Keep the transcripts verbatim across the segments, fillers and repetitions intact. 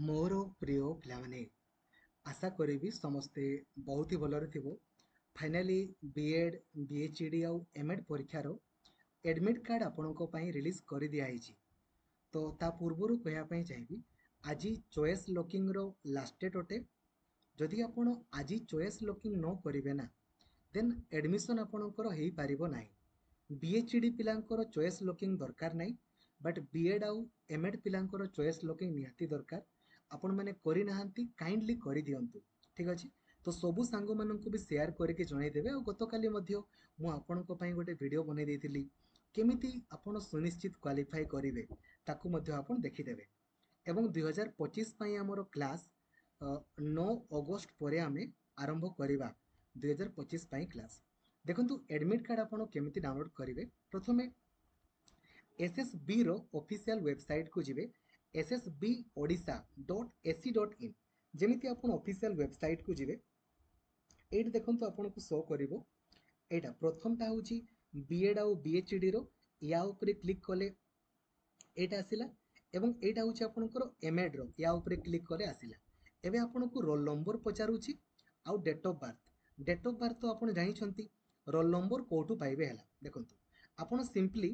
ମୋର ପ୍ରିୟ ପିଲାମାନେ ଆଶା କରିବି ସମସ୍ତେ ବହୁତ ହି ଭଲରେ ଥିବ finally B Ed B H E D ଆଉ ଏମ୍ ଏଡ଼୍ ପରୀକ୍ଷାର ଆଡ଼ମିଟ୍ କାର୍ଡ଼ ଆପଣଙ୍କ ପାଇଁ ରିଲିଜ୍ କରିଦିଆହେଇଛି ତ ତା ପୂର୍ବରୁ କହିବା ପାଇଁ ଚାହିଁବି ଆଜି ଚଏସ୍ ଲକିଂର ଲାଷ୍ଟ ଡେଟ୍ ଅଟେ ଯଦି ଆପଣ ଆଜି ଚଏସ୍ ଲକିଂ ନ କରିବେ ନା ଦେନ୍ ଆଡ଼ମିସନ୍ ଆପଣଙ୍କର ହେଇପାରିବ ନାହିଁ ବି ଏଚ୍ ଇ ଡ଼ି ପିଲାଙ୍କର ଚଏସ୍ ଲକିଂ ଦରକାର ନାହିଁ ବଟ୍ ବି ଏଡ଼୍ ଆଉ ଏମ୍ ଏଡ଼୍ ପିଲାଙ୍କର ଚଏସ୍ ଲକିଂ ନିହାତି ଦରକାର ଆପଣମାନେ କରିନାହାନ୍ତି କାଇଣ୍ଡଲି କରିଦିଅନ୍ତୁ ଠିକ୍ ଅଛି ତ ସବୁ ସାଙ୍ଗମାନଙ୍କୁ ବି ସେୟାର କରିକି ଜଣାଇଦେବେ ଆଉ ଗତକାଲି ମଧ୍ୟ ମୁଁ ଆପଣଙ୍କ ପାଇଁ ଗୋଟେ ଭିଡ଼ିଓ ବନେଇ ଦେଇଥିଲି କେମିତି ଆପଣ ସୁନିଶ୍ଚିତ କ୍ୱାଲିଫାଏ କରିବେ ତାକୁ ମଧ୍ୟ ଆପଣ ଦେଖିଦେବେ ଏବଂ ଦୁଇହଜାର ପଚିଶ ପାଇଁ ଆମର କ୍ଲାସ୍ ନଅ ଅଗଷ୍ଟ ପରେ ଆମେ ଆରମ୍ଭ କରିବା ଦୁଇହଜାର ପଚିଶ ପାଇଁ କ୍ଲାସ୍ ଦେଖନ୍ତୁ ଆଡ଼ମିଟ୍ କାର୍ଡ଼ ଆପଣ କେମିତି ଡାଉନଲୋଡ଼ କରିବେ ପ୍ରଥମେ ଏସ୍ ଏସ୍ ବିର ଅଫିସିଆଲ ୱେବସାଇଟ୍କୁ ଯିବେ S S B Odisha dot AC dot in ଯେମିତି ଆପଣ ଅଫିସିଆଲ ୱେବସାଇଟ୍କୁ ଯିବେ ଏଇଠି ଦେଖନ୍ତୁ ଆପଣଙ୍କୁ ଶୋ କରିବ ଏଇଟା ପ୍ରଥମଟା ହେଉଛି ବି ଏଡ଼୍ ଆଉ ବି ଏଚ୍ ଡ଼ିର ୟା ଉପରେ କ୍ଲିକ୍ କଲେ ଏଇଟା ଆସିଲା ଏବଂ ଏଇଟା ହେଉଛି ଆପଣଙ୍କର ଏମ୍ ଏଡ଼୍ର ୟା ଉପରେ କ୍ଲିକ୍ କଲେ ଆସିଲା ଏବେ ଆପଣଙ୍କୁ ରୋଲ୍ ନମ୍ବର ପଚାରୁଛି ଆଉ date of birth date of birth ତ ଆପଣ ଜାଣିଛନ୍ତି ରୋଲ୍ ନମ୍ବର କେଉଁଠୁ ପାଇବେ ହେଲା ଦେଖନ୍ତୁ ଆପଣ ସିମ୍ପଲି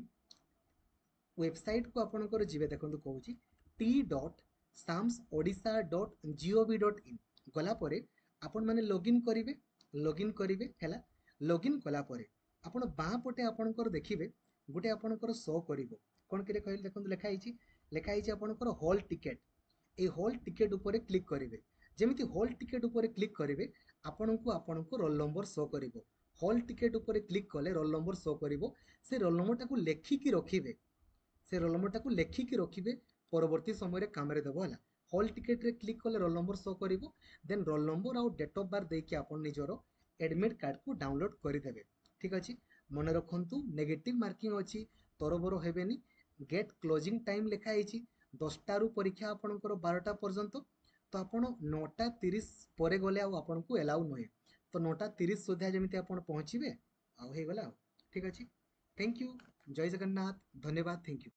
ୱେବସାଇଟ୍କୁ ଆପଣଙ୍କର ଯିବେ ଦେଖନ୍ତୁ କହୁଛି ଟି dot SAMS Odisha dot GOV dot in ଗଲା ପରେ ଆପଣମାନେ ଲଗ୍ଇନ୍ କରିବେ ଲଗ୍ଇନ୍ କରିବେ ହେଲା ଲଗ୍ଇନ୍ କଲା ପରେ ଆପଣ ବାଁ ପଟେ ଆପଣଙ୍କର ଦେଖିବେ ଗୋଟେ ଆପଣଙ୍କର ଶୋ କରିବ କ'ଣ କିରେ କହିଲେ ଦେଖନ୍ତୁ ଲେଖା ହେଇଛି ଲେଖା ହେଇଛି ଆପଣଙ୍କର ହଲ୍ ଟିକେଟ୍ ଏଇ ହଲ୍ ଟିକେଟ୍ ଉପରେ କ୍ଲିକ୍ କରିବେ ଯେମିତି ହଲ୍ ଟିକେଟ୍ ଉପରେ କ୍ଲିକ୍ କରିବେ ଆପଣଙ୍କୁ ଆପଣଙ୍କୁ ରୋଲ୍ ନମ୍ବର ଶୋ କରିବ ହଲ୍ ଟିକେଟ୍ ଉପରେ କ୍ଲିକ୍ କଲେ ରୋଲ୍ ନମ୍ବର ଶୋ କରିବ ସେ ରୋଲ୍ ନମ୍ବରଟାକୁ ଲେଖିକି ରଖିବେ ସେ ରୋଲ୍ ନମ୍ବରଟାକୁ ଲେଖିକି ରଖିବେ ପରବର୍ତ୍ତୀ ସମୟରେ କାମରେ ଦେବ ହେଲା ହଲ୍ ଟିକେଟ୍ରେ କ୍ଲିକ୍ କଲେ ରୋଲ୍ ନମ୍ବର ଶୋ କରିବ ଦେନ୍ ରୋଲ୍ ନମ୍ବର ଆଉ ଡେଟ୍ ଅଫ୍ ବାର୍ଥ ଦେଇକି ଆପଣ ନିଜର ଆଡ଼ମିଟ୍ କାର୍ଡ଼କୁ ଡାଉନଲୋଡ଼ କରିଦେବେ ଠିକ୍ ଅଛି ମନେ ରଖନ୍ତୁ ନେଗେଟିଭ୍ ମାର୍କିଂ ଅଛି ତରବର ହେବେନି ଗେଟ୍ କ୍ଲୋଜିଂ ଟାଇମ୍ ଲେଖା ହେଇଛି ଦଶଟାରୁ ପରୀକ୍ଷା ଆପଣଙ୍କର ବାରଟା ପର୍ଯ୍ୟନ୍ତ ତ ଆପଣ ନଅଟା ତିରିଶ ପରେ ଗଲେ ଆଉ ଆପଣଙ୍କୁ ଏଲାଉ ନୁହେଁ ତ ନଅଟା ତିରିଶ ସୁଦ୍ଧା ଯେମିତି ଆପଣ ପହଞ୍ଚିବେ ଆଉ ହେଇଗଲା ଆଉ ଠିକ୍ ଅଛି thank you Jay Jagannath ଧନ୍ୟବାଦ thank you